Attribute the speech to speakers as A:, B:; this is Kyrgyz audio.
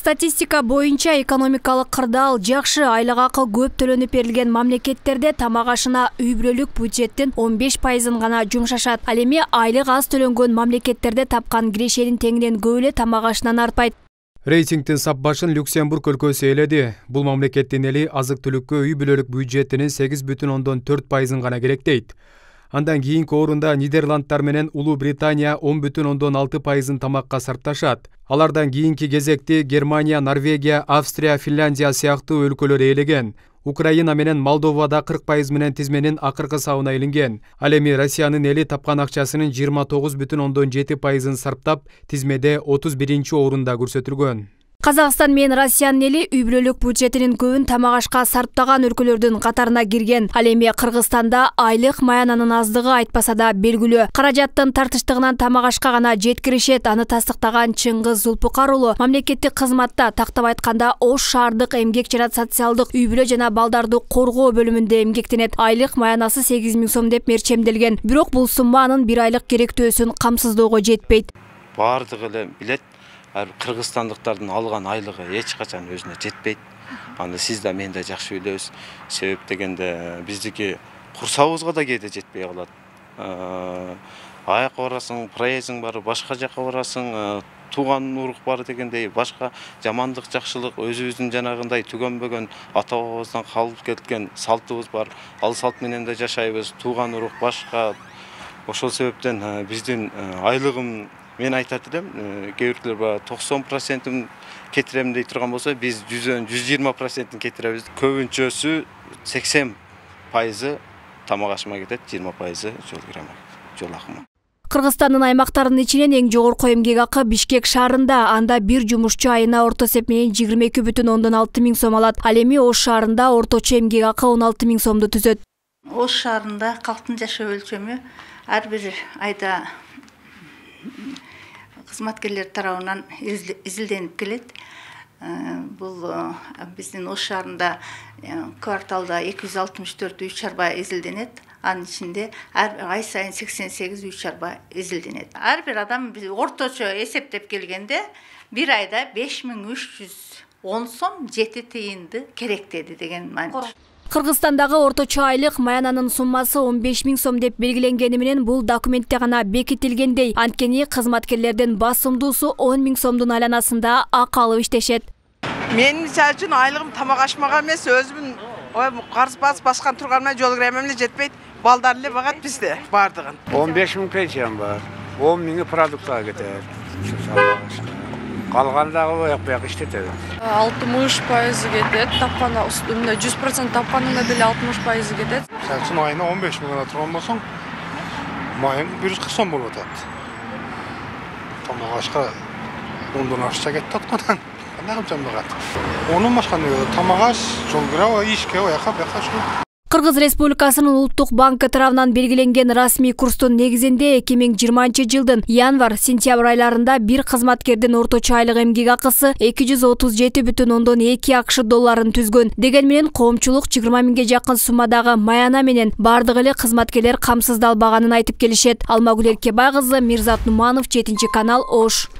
A: Статистика боюнча экономикалык кырдаал жакшы, айлык акы көп төлөнүп берилген мамлекеттерде тамак ашына үй-бүлөлүк бюджеттин 15%-ын гана жумшашат. Ал эми айлык аз төлөнгөн мамлекеттерде тапкан кирешенин теңинен көп эле тамак ашынан артпайт.
B: Рейтингдин сап башын Люксембург өлкөсү ээледи. Бул мамлекеттин эли азык-түлүккө үй-бүлөлүк бюджетинин 8,4%-ын гана керектейт. Андан кийинки орунда Нидерландтар менен Улуу Британия 10,6%-ын тамакка сарпташат. Алардан кийинки кезекти Германия, Норвегия, Австрия, Финляндия сыяктуу өлкөлөр ээлеген. Украина менен Молдовада 40% менен тизменин акыркы сабына илинген. Ал эми Россиянын эли тапкан акчасынын 29,7%-ын сарптап, тизмеде 31-орунда көрсөтүлгөн.
A: Казакстан менен Россиянын эли үй-бүлөлүк бюджетинин көбүн тамак ашка сарптаган өлкөлөрдүн катарына кирген. Ал эми Кыргызстанда айлык маянанын аздыгы айтпаса да белгилүү. Каражаттын тартыштыгынан тамак ашка гана жеткиришет. Аны тастыктаган Чыңгыз Зулпукар уулу мамлекеттик кызматта, тактап айтканда Ош шаардык эмгек жана социалдык үй-бүлө жана балдарды коргоо бөлүмүндө эмгектенет. Айлык маянасы 8.000 сом деп мерчемделген. Бирок бул сумма анын бир айлык керектөөсүн камсыздоого жетпейт.
C: Бардыгы эле билет. Кыргызстандыктардын алган айлыгы эч качан өзүнө жетпейт. Аны сиз да мен да жакшы билебиз. Себеп дегенде биздики курсабыбызга да кээде жетпей калат. Аяка барасың, проездиң бар, башка жака барасың, тууган урук бар дегендей, башка жамандык, жакшылык өзүбүздүн жанагындай түгөнбөгөн ата бабабыздан калып кеткен салтыбыз бар. Ал салт менен да жашайбыз. Тууган урук башка. Ошол себептен биздин айлыгым мен айтат элем, кээ бирлер 90%-ын кетирем дей турган болсо, биз 120%-ын кетиребиз. Көбүнчөсү 80% тамак ашыма кетет, 20% жол акыма.
A: Кыргызстандын аймактарынын ичинен эң жогорку эмгек акы Бишкек шаарында. Анда бир жумушчу айына орто эсеп менен 22,6 миң сом алат. Ал эми Ош шаарында орточо эмгек акы 16 миң сомду түзөт.
D: Ош шаарында калктын жашоо өлчөмү ар бир айда кызматкерлер тарабынан изилденип келет. Бул биздин Ош шаарында кварталда 264 үй чарба изилденет. Анын ичинде ай сайын 88 үй чарба изилденет. Ар бир адам орточо эсептеп келгенде бир айда 5310 сом 7 тыйынды керектеди деген маани.
A: Кыргызстандагы орточо айлык маянанын суммасы 15 миң сом деп белгиленгени менен бул документте гана бекитилгендей. Анткени кызматкерлердин басымдуусу 10 миң сомдун айланасында акы алып иштешет.
E: Мен мисалы үчүн айлыгым тамак ашмага эмес, өзүмүн карыз баскан турганыма жол киремем эле жетпейт. Балдар эле багат бизде бардыгын. 15 миң пенсиям бар. 10 миңи продуктка кетет. Калгандагы бияк иштетет.
F: 60% кетет, тапканда 100% тапканында деле 60% кетет.
G: Сен айына 15 миңга турган болсоң, майың 140 сом болуп атат. Тамак ашка 10 ашча кетти аткандан. Кандай кылсам багат. Онун башка тамак аш, жол кира, ишке, аяка бияка шу.
A: Кыргыз Республикасынын Улуттук банкы тарабынан белгиленген расмий курстун негизинде 2020-жылдын январь-сентябрь айларында бир кызматкердин орточо айлык эмгек акысы 237,2 акш долларын түзгөн. Деген менен коомчулук 20 миңге жакын суммадагы маяна менен бардык эле кызматкерлер камсыздалбаганын айтып келишет. Алмагүл Эркебай кызы, Мирзат Нуманов, 7 канал, Ош.